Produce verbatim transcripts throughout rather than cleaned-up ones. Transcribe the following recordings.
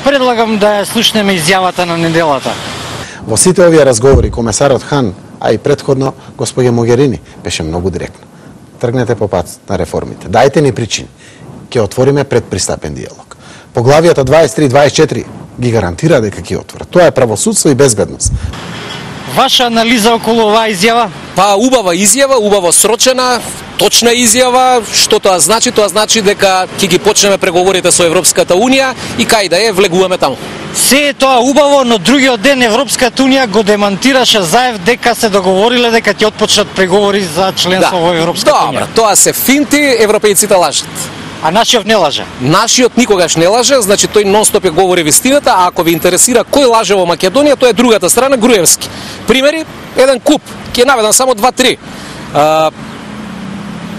предлагам да ја слушнеме изјавата на неделата. Во сите овие разговори комесарот Хан, а и предходно господја Могерини, беше многу директно. Тргнете по пат на реформите. Дајте ни причини. Ќе отвориме предпристапен диалог. Поглавијата дваесет и три и дваесет и четири ги гарантира дека ќе отворат. Тоа е правосудство и безбедност. Ваша анализа околу оваа изјава? Па убава изјава, убаво срочена, точна изјава. Што тоа значи? Тоа значи дека ќе ги почнеме преговорите со Европската унија и кај да е влегуваме таму. Се е тоа убаво, но другиот ден Европската унија го демантираше Заев дека се договориле дека ќе отпочнат преговори за членство Да. во Европската унија. Добра, тоа се финти, европејците лажат. А нашиот не лаже. Нашиот никогаш не лаже, значи тој нон-стоп ја говори вистината, а ако ви интересира кој лаже во Македонија, тоа е другата страна, Груевски. Примери, еден куп, ќе наведам само два-три. Uh,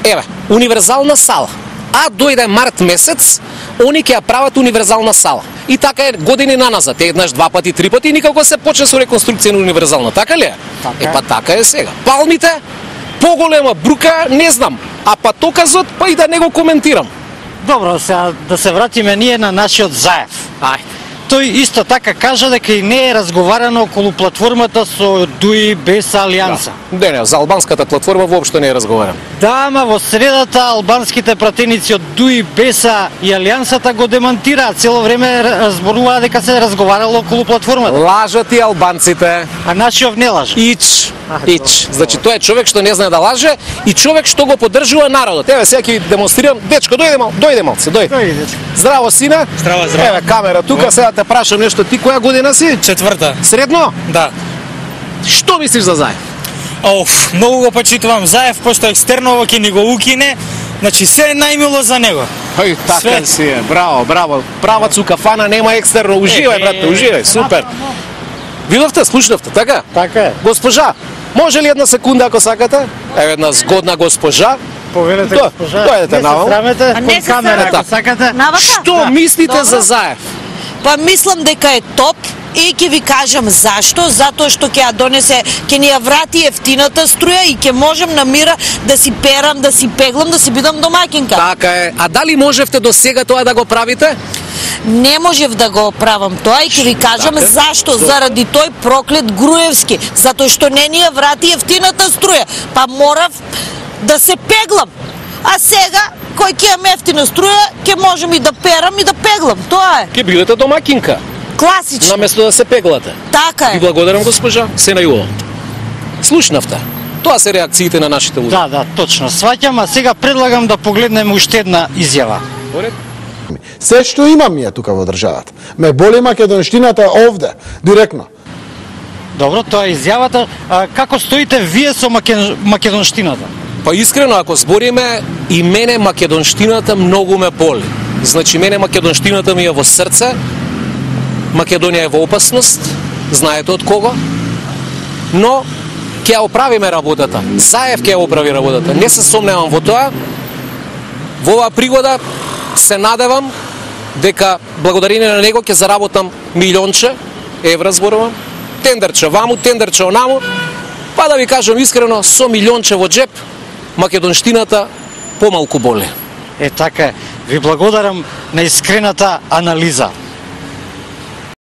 еве, универзална сала. А дојде март месец, они ќе ја прават универзална сала. И така е години наназад, еднаш, два пати, три пати, и никако се почне со реконструкција на универзална, така ли е? Така е. Е, па така е сега. Палмите, поголема брука, не знам, а патоказот, па и да не го коментирам. Добро, сега да се вратиме ние на нашиот Заев. Ајде. Тој исто така кажа дека и не е разговарано околу платформата со ДУИ без Алијанса. Да. Не, не, за албанската платформа воопшто не е разговарам. Да, ама во средата албанските пратеници од ДУИ, БЕСА и Алијансата го демантираат. Цело време разборуваа дека се разговарало околу платформата. Лажат и албанците. А нашиот не лаже. Ич, А, ич. Значи тоа е човек што не знае да лаже и човек што го поддржува народот. Еве сега ќе ви демонстрирам. Дечко, дојде мал, дојде малце, дојде. Дојде, дечко. Здраво, сине. Здраво, здраво. Еве камера тука, сега те прашам нешто. Ти која година си? Четврта. Средно? Да. Што мислиш за Заев? Оф, многу го почитувам Заев, пошто екстерно ова ќе ни го укине, значи се е најмило за него. Ај, така Све. си е. Браво, браво. Правац у кафана, нема екстерно. Уживај, Е, брате, е, уживај. Супер. Видовте, слушнавте, така? Така е. Госпожа, може ли една секунда ако сакате? Еве една згодна госпожа. Повелете До- госпожа. дојдете Не се наваму. срамете, А не кон се камера срамам. ако сакате. Навака? Што Да. мислите Добро. за Заев? Па мислам дека е топ и ќе ви кажам зашто, затоа што ќе ја донесе, ќе ни ја врати ефтината струја и ќе можам на мира да си перам, да си пеглам, да си бидам домакинка. Така е. А дали можевте до сега тоа да го правите? Не можев да го правам тоа и ќе ви кажам Така. зашто, заради тој проклет Груевски, затоа што не ни ја врати ефтината струја, па морав да се пеглам. А сега, кој ќе имам ефтина струја, ќе можем и да перам и да пеглам, тоа е. Ќе бидете домакинка, Класично. наместо да се пеглате. Така Ви е. благодарам, госпожа. Се најубаво. Слушнавте. Тоа се реакциите на нашите луѓе. Да, да, точно. Сваќам, а сега предлагам да погледнеме уште една изјава. Поред? Се што имам ја тука во државата. Ме боли македонштината овде, директно. Добро, тоа е изјавата. А, како стоите вие со макен... македонштината? Па искрено, ако збориме, и мене македонштината многу ме боли. Значи, мене македонштината ми е во срце, Македонија е во опасност, знаете од кого, но ќе ја оправиме работата. Заев ќе ја оправи работата. Не се сомневам во тоа. Во оваа пригода се надевам дека благодарение на него ќе заработам милионче евра, зборувам, тендерче ваму, тендерче онаму, па да ви кажам искрено, со милионче во джеп, македонштината помалку боли. Е, така е. Ви благодарам на искрената анализа.